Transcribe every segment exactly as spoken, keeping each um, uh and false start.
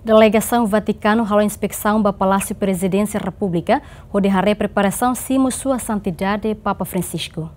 Delegasaun Vatikanu halo inspesaun ba Palásiu Prezidénsia Repúblika, hodi haree preparasaun simu Sua Santidade Papa Francisco.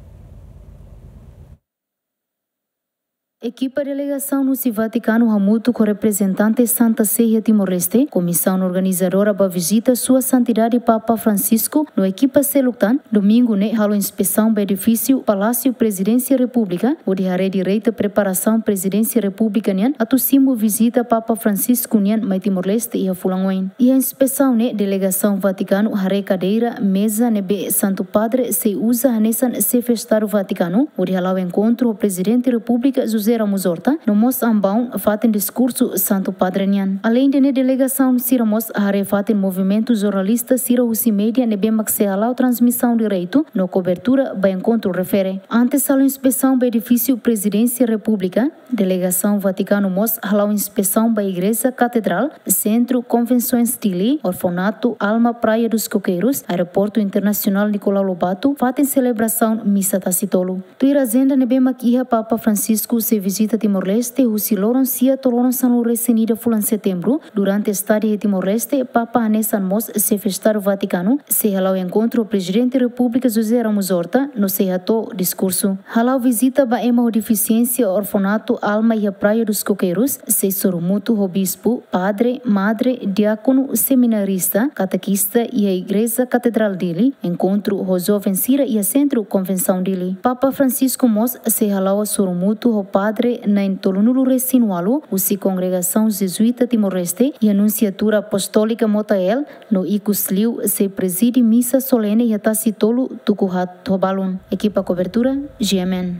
Ekipa delegasaun husi Vatikanu hamutuk ho reprezentante Santa Sé iha Timor-Leste, komisaun organizadora ba vizita Sua Santidade Papa Francisco no ekipa seluk tan, domingu ne'e halo inspesaun ba edifísiu Palásiu Prezidénsia Repúblika, hodi haree direitu preparasaun Prezidénsia Repúblika nian atu simu vizita Papa Francisco nian mai Timor-Leste iha fulan oin. Iha inspesaun ne'e delegasaun Vatikanu haree kadeira, meza ne'ebé Santu Padre sei uza hanesan Xefe Estadu Vatikanu, hodi hala'o enkontru ho Prezidente Repúblika José Ramos Horta, no mós ambaun fatin diskursu Santu Padre nian. Aleinde ne'e delegasaun sira mós haree fatin movimentu jornalista sira husi média ne'ebé mak sei hala'o transmisaun direitu no kobertura ba enkontru refere. Antes halo inspesaun ba edifísiu Prezidénsia Repúblika, delegasaun Vatikanu mós hala'o inspesaun ba Igreja Katedrál, Sentru Konvensoens Dili, Orfanatu Alma Praia dos Coqueiros, Aeroportu Internasionál Nicolau Lobato, fatin selebrasaun misa tasi tolu. Tuir ajenda ne'ebé mak iha, Papa Francisco sei vizita Timor-Leste husi loron sia to'o loron sanulu-resin-ida fulan Setembru. Durante estadia iha Timor-Leste, Papa hanesan mós Xefe Estadu Vatikanu sei hala'o enkontru ho Prezidente Repúblika José Ramos Horta no sei hato'o diskursu. Hala'o vizita ba ema ho defisiénsia Orfanatu Alma iha Praia dos Coqueiros, sei sorumutu ho bispu, padre, madre, diákonu, seminarista, katekista iha Igreja Katedrál Dili, enkontru ho joven sira iha Sentru Konvensaun Dili. Papa Francisco mós sei hala'o sorumutu ho padre na'in tolunulu-resin-ualu husi kongregasaun Jezuíta Timor-Leste iha Nunsiatura Apostólika Motael, no ikusliu sei prezide misa solene iha tasi tolu tuku haat ho balun. Ekipa kobertura, G M N.